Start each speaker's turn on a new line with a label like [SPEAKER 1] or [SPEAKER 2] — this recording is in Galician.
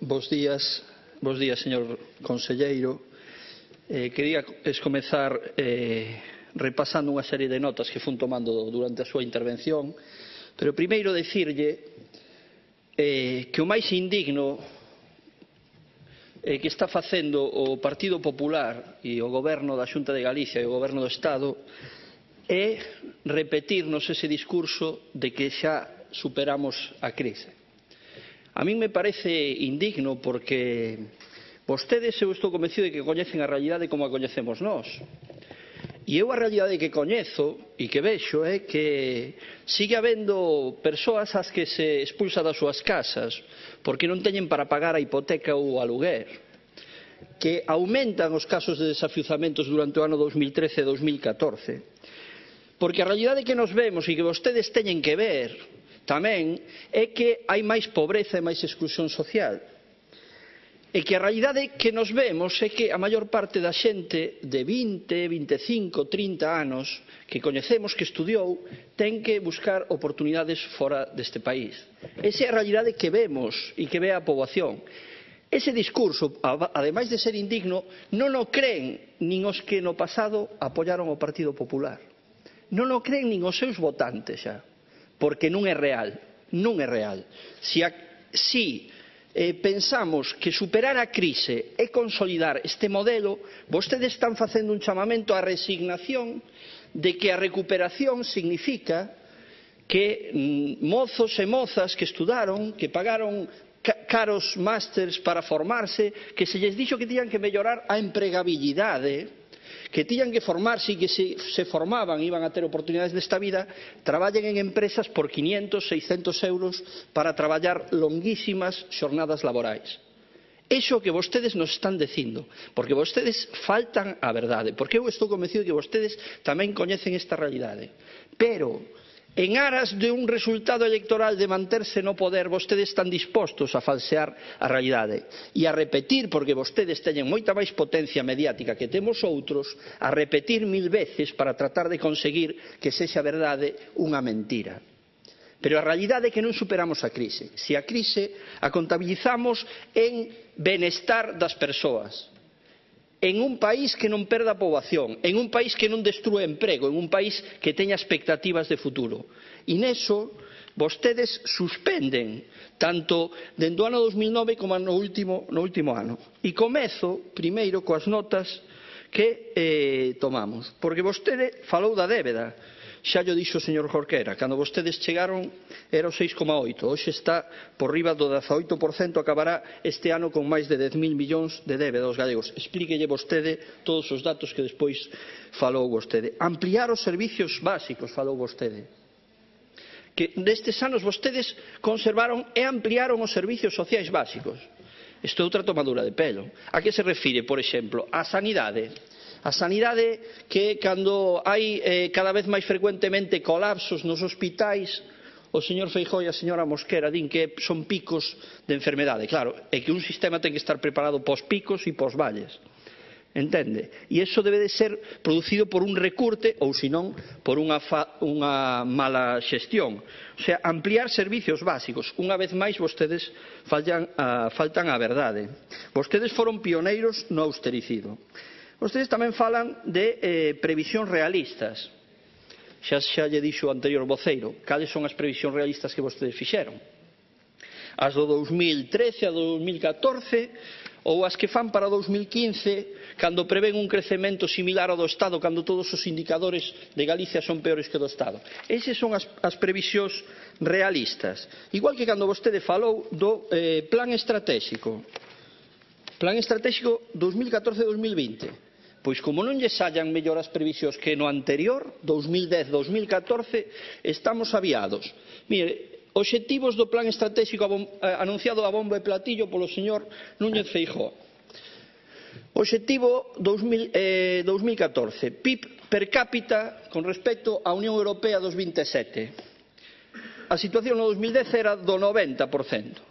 [SPEAKER 1] Bos días, señor conselleiro. Quería comezar repasando unha serie de notas que fun tomando durante a súa intervención, pero primeiro dicirlle que o máis indigno que está facendo o Partido Popular e o Goberno da Xunta de Galicia e o Goberno do Estado é repetirnos ese discurso de que xa superamos a crise. A min me parece indigno porque vostedes, eu estou convencido de que coñecen a realidade como a coñecemos nós. E eu a realidade que coñezo e que vexo é que sigue habendo persoas ás que se expulsa das súas casas porque non teñen para pagar a hipoteca ou o aluguer, que aumentan os casos de desafiuzamentos durante o ano 2013 e 2014, porque a realidade que nos vemos e que vostedes teñen que ver tamén é que hai máis pobreza e máis exclusión social. E que a realidade que nos vemos é que a maior parte da xente de 20, 25, 30 anos que coñecemos, que estudiou, ten que buscar oportunidades fora deste país. Esa é a realidade que vemos e que ve a poboación. Ese discurso, ademais de ser indigno, non o creen nin os que no pasado apoiaron o Partido Popular. Non o creen nin os seus votantes xa, porque non é real. Non é real. Si pensamos que superar a crise é consolidar este modelo, vostedes están facendo un chamamento á resignación de que a recuperación significa que mozos e mozas que estudaron, que pagaron caros másters para formarse, que se lles dixo que tiñan que mellorar a empregabilidade, que tiñan que formarse e que se formaban iban a ter oportunidades desta vida, traballen en empresas por 500, 600 euros para traballar longuísimas xornadas laborais. Iso que vostedes nos están dicindo, porque vostedes faltan a verdade, porque eu estou convencido de que vostedes tamén coñecen esta realidade. Pero en aras de un resultado electoral de manterse no poder, vostedes están dispostos a falsear a realidade e a repetir, porque vostedes teñen moita máis potencia mediática que temos outros, a repetir 1000 veces para tratar de conseguir que sexa verdade unha mentira. Pero a realidade é que non superamos a crise. Se a crise a contabilizamos en benestar das persoas, en un país que non perda poboación, en un país que non destrúe emprego, en un país que teña expectativas de futuro. E neso vostedes suspenden tanto dende o ano 2009 como no último ano. E comezo primeiro coas notas que tomamos, porque vostede falou da débeda. Xa llo dixo o señor Jorquera, cando vostedes chegaron era o 6,8, hoxe está por riba do 18%, acabará este ano con máis de 10.000 millóns de débeda aos galegos. Explíquelle vostede todos os datos que despois falou vostede. Ampliar os servicios básicos, falou vostede. Que nestes anos vostedes conservaron e ampliaron os servicios sociais básicos. Isto é outra tomadura de pelo. A que se refire, por exemplo? A sanidade. A sanidade que cando hai cada vez máis frecuentemente colapsos nos hospitais, o señor Feijóo e a señora Mosquera din que son picos de enfermedade. Claro, é que un sistema ten que estar preparado pos picos e pos valles. Entende? E iso debe de ser producido por un recurte ou senón por unha mala xestión. O sea, ampliar servicios básicos. Unha vez máis vostedes faltan a verdade. Vostedes foron pioneiros no austericido. Vostedes tamén falan de previsións realistas. Xa lle dixo o anterior voceiro. Cales son as previsións realistas que vostedes fixeron? As do 2013 a 2014 ou as que fan para 2015 cando prevén un crecemento similar ao do Estado, cando todos os indicadores de Galicia son peores que do Estado? Esas son as previsións realistas. Igual que cando vostede falou do plan estratégico. Plan estratégico 2014-2020. Pois como non lle sallan mellor as previsións que no anterior, 2010-2014, estamos aviados. Mire, obxectivos do plan estratégico anunciado a bombo e platillo polo señor Núñez Feijóo. Obxectivo 2014, PIB per cápita con respecto á Unión Europea dos 27. A situación no 2010 era do 90%.